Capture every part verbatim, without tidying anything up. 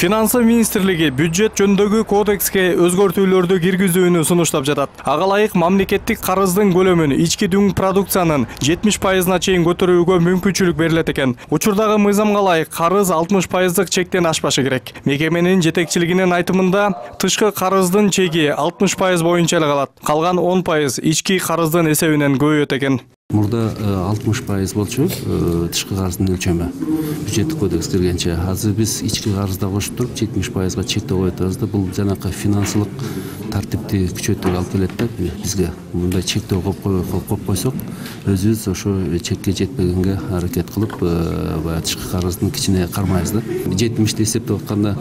Финансы министрлиги бюджет жөнүндөгү кодекске өзгөртүүлөрдү киргизүүнү сунуштап жатат. Ага ылайык мамлекеттик карыздын көлөмүн ички дүң продукциянын жетимиш пайызына чейин көтөрүүгө мүмкүнчүлүк берилет экен. Учурдагы мыйзамга ылайык карыз алтымыш пайыздык чектен ашпашы керек. Мекеменин жетекчилигинин айтымында тышкы карыздын чеги алтымыш пайыз боюнча эле калат. Калган он пайыз ички карыздын эсебинен көбөйөт экен. Мурда алтымыш пайыз болчу тышкы карыздын өлчөмү бюджеттик кодекс киргенче. Азыр биз ички карызда кошуп туруп жетимиш пайызга чектөө коюп атабыз да. Бул жанакы финансылык тартипти күчөтүүгө алып келет да бизге. Мындай чектөө коюп койсок, өзүбүз ошо чекке жетпегенге аракет кылып, баягы тышкы карыздын кичине кармайбыз да. жетимишти эсептеп атканда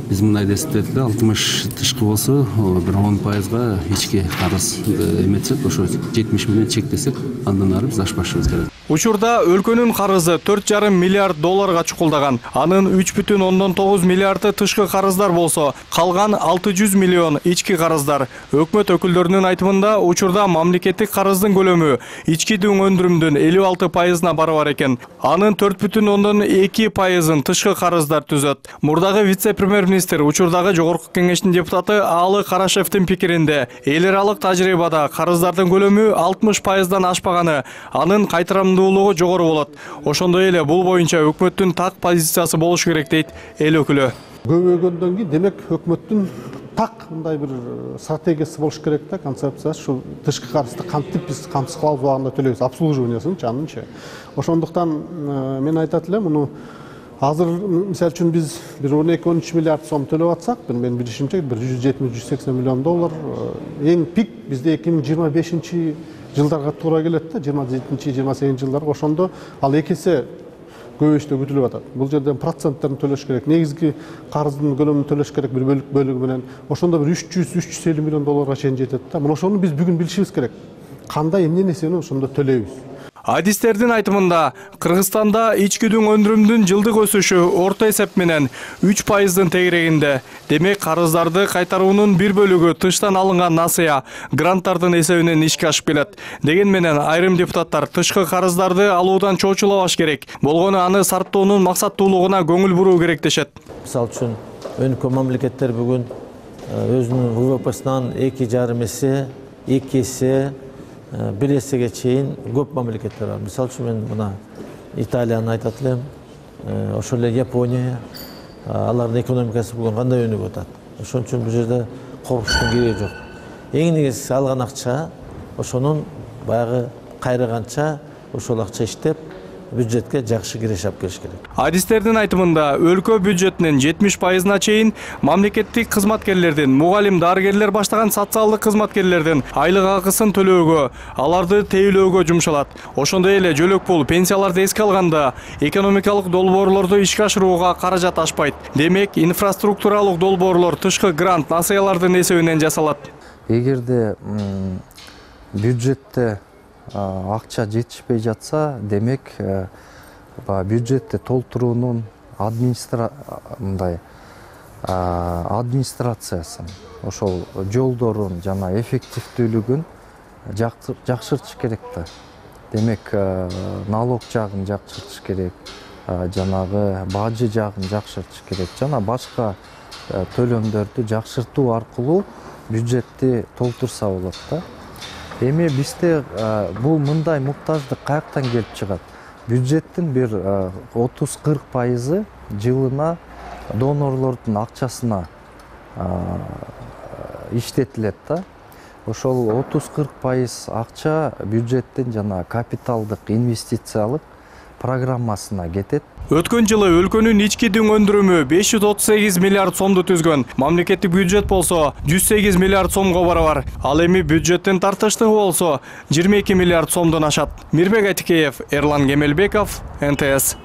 биз мындай эсептедик да, алтымыш тышкы болсо, бир он пайызга ички карыз эметсек, ошо жетимиш менен чектесек, андан ары биз ашпашыбыз керек. Учурда өлкөнүн карызы төрт жарым миллиард долларга чукулдаган. Анын үч бүтүн ондон тогуз миллиарды тышкы карыздар болсо, калган алты жүз миллион ички карыздар. Өкмөт өкүлдөрүнүн айтымында, учурда мамлекеттик карыздын көлөмү ички дүң өндүрүмдүн элүү алты пайызына барабар экен. Анын төрт бүтүн ондон эки пайызын тышкы карыздар түзөт. Мурдагы вице-премьер-министр, учурдагы жогорку кеңештин депутаты Аалы Карашевдин пикиринде, эл аралык тажрыйбада карыздардын көлөмү алтымыш пайыздан ашпаганы, анын кайтарамдуулугу жогору болот. Ошондой эле бул боюнча өкмөттүн так позициясы болуш керек дейт эл өкүлү. Көбөйгөндөн кийин демек өкмөттүн так мындай бир стратегиясы болуш керек да, концепциясы. Ушул тышкы карызды кантип биз камсыз кылабыз убагында төлөйбүз, обслуживаниясынчы анынчы. Ошондуктан мен айтат элем, муну азыр мисалы үчүн биз бир он эки он үч миллиард сом төлөп атсак, менин билишимче бир жүз жетимиш жүз сексен миллион доллар эң пик бизде эки миң жыйырма бешинчи жылдарга туура келет да, жыйырма жетинчи жыйырма сегизинчи жылдарга. Ошондо ал эки эсе көбөйүштө күтүлүп атат. Бул жерден проценттерин төлөш керек, негизги карыздын көлөмүн төлөш керек бир бөлүк бөлүгү менен. Ошондо бир үч жүз үч жүз элүү миллион долларга чейин жетет да. Мына ошону биз бүгүн билишибиз керек. Кандай эмне нерсени ошондо төлөйбүз. Адистердин айтымында, Кыргызстанда ички дүң өндүрүмдүн жылдык өсүшү орто эсеп менен үч пайыздын тегерегинде. Демек, карыздарды кайтаруунун бир бөлүгү тыштан алынган насыя, гранттардын эсебинен ишке ашып келет. Деген менен айрым депутаттар тышкы карыздарды алуудан чоочулабаш керек. Болгону аны сарптоонун максаттуулугуна көңүл буруу керек дешет. Мисалы үчүн, өнүккөн мамлекеттер бүгүн өзүнүн ВВПсынан эки жарым эсе, эки эсе, бир эсеге чейин көп мамлекеттер бар. Мисалы үчүн мен мына Италияны айтат элем, ошол эле Япония, алардын экономикасы бүгүн кандай өнүгүп атат. Ошон үчүн бул жерде коркуштун кереги жок. Эң негизгиси алган акча, ошонун баягы кайрыганча ошол акча иштеп, бюджетке жакшы киреше алып келиш керек. Адистердин айтымында, өлкө бюджетинин жетимиш пайызына чейин мамлекеттик кызматкерлердин, мугалим, дарыгерлер баштаган социалдык кызматкерлердин айлык акысын төлөөгө, аларды тейлөөгө жумшалат. Ошондой эле жөлөк пул, пенсияларды эске алганда, экономикалык долбоорлорду ишке ашырууга каражат ашпайт. Демек, инфраструктуралык долбоорлор тышкы грант, насыялардын эсебинен жасалат. Эгерде бюджетте акча жетишпей жатса, демек бюджетти толтуруунун администрациясын, ошол жолдорун жана эффективдүүлүгүн жакшыртыш керек да. Демек, налог жагын жакшыртыш керек, жанагы бажы жагын жакшыртыш керек, жана башка төлөмдөрдү жакшыртуу аркылуу бюджетти толтурса болот да. Эми бизде бул мындай муктаждык каяктан келип чыгат? Бюджеттин бир отуз кырк пайызы жылына донорлордун акчасына иштетилет да. Ошол отуз кырк пайыз акча бюджеттин жана капиталдык инвестициялык программасына кетет. Өткөн жылы өлкөнүн ички дүң өндүрүмү беш жүз отуз сегиз миллиард сомду түзгөн. Мамлекеттик бюджет болсо жүз сегиз миллиард сомго барабар. Ал эми бюджеттин тартыштыгы болсо жыйырма эки миллиард сомдон ашат. Мирбек Айтикеев, Эрлан Кемелбеков, эн тэ эс.